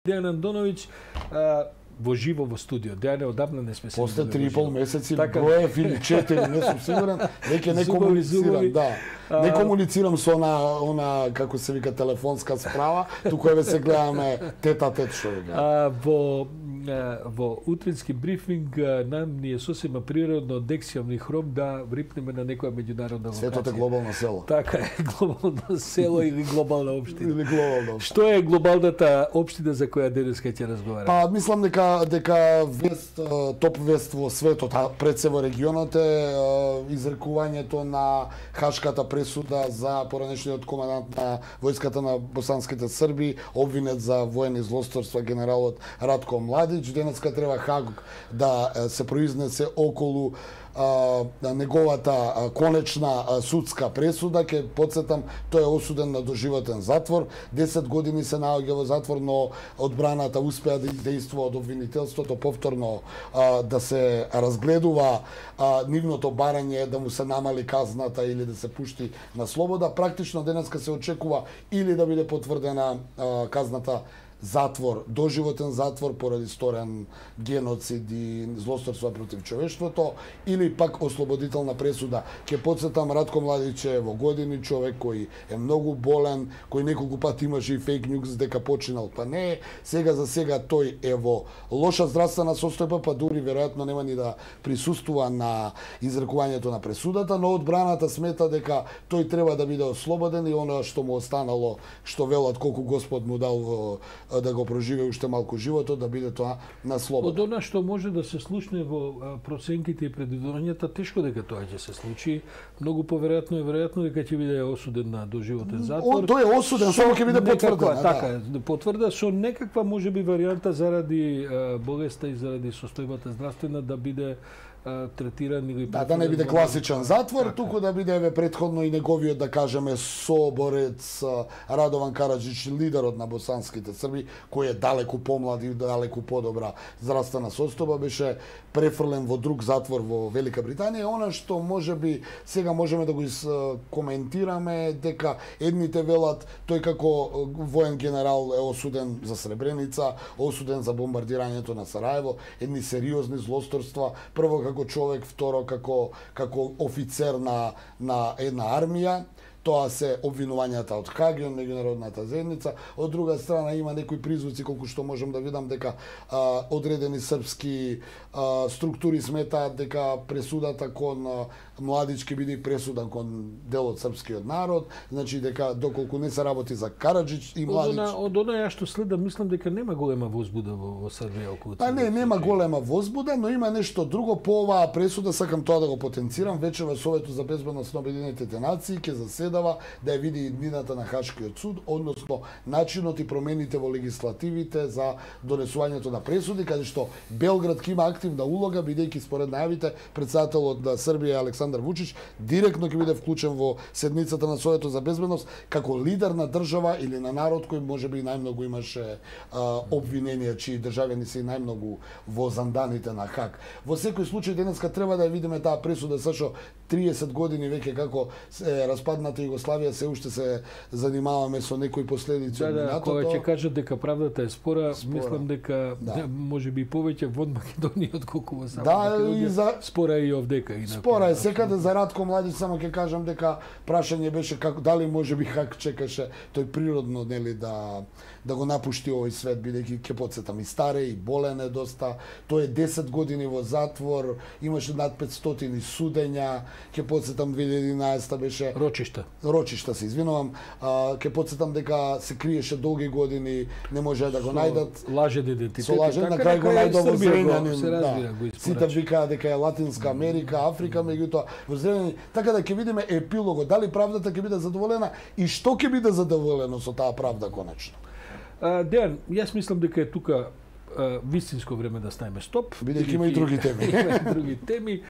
Дејан Андоновиќ во живо во студио. Дејане, одамна не сме се После видели 3,5 месеци броев или 4, не сум сигурен, веќе не комуницирам, да. Не комуницирам со она како се вика телефонска справа, туку еве се гледаме тет-а-тет што вика. Во утрински брифинг нам ни е сосема природно Дексијом и Хром да врипнеме на некоја меѓународна локација. Светот е глобално село. Така е, глобално село или глобална општина. Или глобална. Што е глобалната општина за која денеска ќе разговараме? Па мислам дека вест, топ вест во светот, а пред се во регионот е изрекувањето на Хашката пресуда за поранешниот командант на војската на босанските Срби, обвинет за воени злосторства генералот Радко Младич. Денеска треба Хаг да се произнесе околу неговата конечна судска пресуда. Ке потсетам, тој е осуден на доживотен затвор. 10 години се наоѓа во затвор, но одбраната успеа да издействува од обвинителството повторно да се разгледува нивното барање да му се намали казната или да се пушти на слобода. Практично денеска се очекува или да биде потврдена казната затвор, доживотен затвор поради сторен геноцид и злосторства против човештвото, или пак ослободителна пресуда. Ке потсетам, Радко Младич е во години, човек кој е многу болен, кој неколку пати имаше и фейк нюз дека починал, па не е. Сега за сега тој е во лоша здравствена состојба, па дури веројатно нема ни да присуствува на изрекувањето на пресудата, но одбраната смета дека тој треба да биде ослободен и оно што му останало, што велат колку Господ му дал да го проживее уште малку животот, да биде тоа на слобода. Од она што може да се случне во проценките и предвидувањата, тешко дека тоа ќе се случи. Многу поверојатно е веројатно дека ќе биде осуден на доживотен затвор. Тој е осуден, само ќе биде потврден. Така, потврда со некаква можеби варијанта заради болеста и заради состојбата здравствена да биде третиран или да не биде класичен затвор, туку да биде еве претходно и неговиот, да кажеме, соборец Радован Караџич, лидерот на босанските Срби, кој е далеку помлад и далеку подобра здравствена состојба, беше префрлен во друг затвор во Велика Британија. Она што можеби сега можеме да го коментираме дека едните велат тој како воен генерал е осуден за Сребреница, осуден за бомбардирањето на Сараево, едни сериозни злосторства, прво како човек, второ како офицер на една армија. Тоа се обвинувањата од Хаг и од меѓународната заедница. Од друга страна има некои призвуци, колку што можам да видам, дека одредени српски структури сметаат дека пресудата кон Младич ќе биде пресуда кон дел од српскиот народ, значи дека доколку не се работи за Караџич и Младич. Од она ја што следам, мислам дека нема голема возбуда во Србија околу тоа. Па нема голема возбуда, но има нешто друго по оваа пресуда, сакам тоа да го потенцирам. Вече во Советот за безбедност на Обединетите нации ќе заседава да ја види иднината на Хашкиот суд, односно начинот и промените во легислативите за донесувањето на пресуди, каде што Белград ќе има активна улога, бидејќи според најавите председателот на Србија Александар Вучич директно ќе биде вклучен во седницата на Советот за безбедност како лидер на држава или на народ кој можеби најмногу имаше обвиненија, чии државјани се најмногу во занданите на Хаг. Во секој случај денеска треба да ја видиме таа пресуда, зашто 30 години веќе како е распадната Југославија, се уште се занимаваме со некои последици од минатото. Кога ќе кажат дека правдата е спора, мислам дека можеби повеќе во Македонија отколку во сама Македонија. Спора е и овдека. Спора е секаде. За Радко Младич само ќе кажам дека прашање беше како дали можеби Хаг чекаше тој природно, нели, да го напушти овој свет, бидејќи ќе потсетам и старе и болен е доста. Тој е 10 години во затвор, имаше над 500 судења, ќе потсетам 2011 беше Рочишта се извинувам, ќе потсетам дека се криеше долги години, не може да го најдат. Лажен идентитет. Со лажен, на крај го најдов во Зренјанин. Сите викаа дека е Латинска Америка, Африка, меѓутоа во Зренјанин. Така да ќе видиме епилогот, дали правдата ќе биде задоволена и што ќе биде задоволено со таа правда конечно. Дејан, јас мислам дека е тука вистинско време да ставиме стоп. Бидејќи има и други теми. Има и други теми.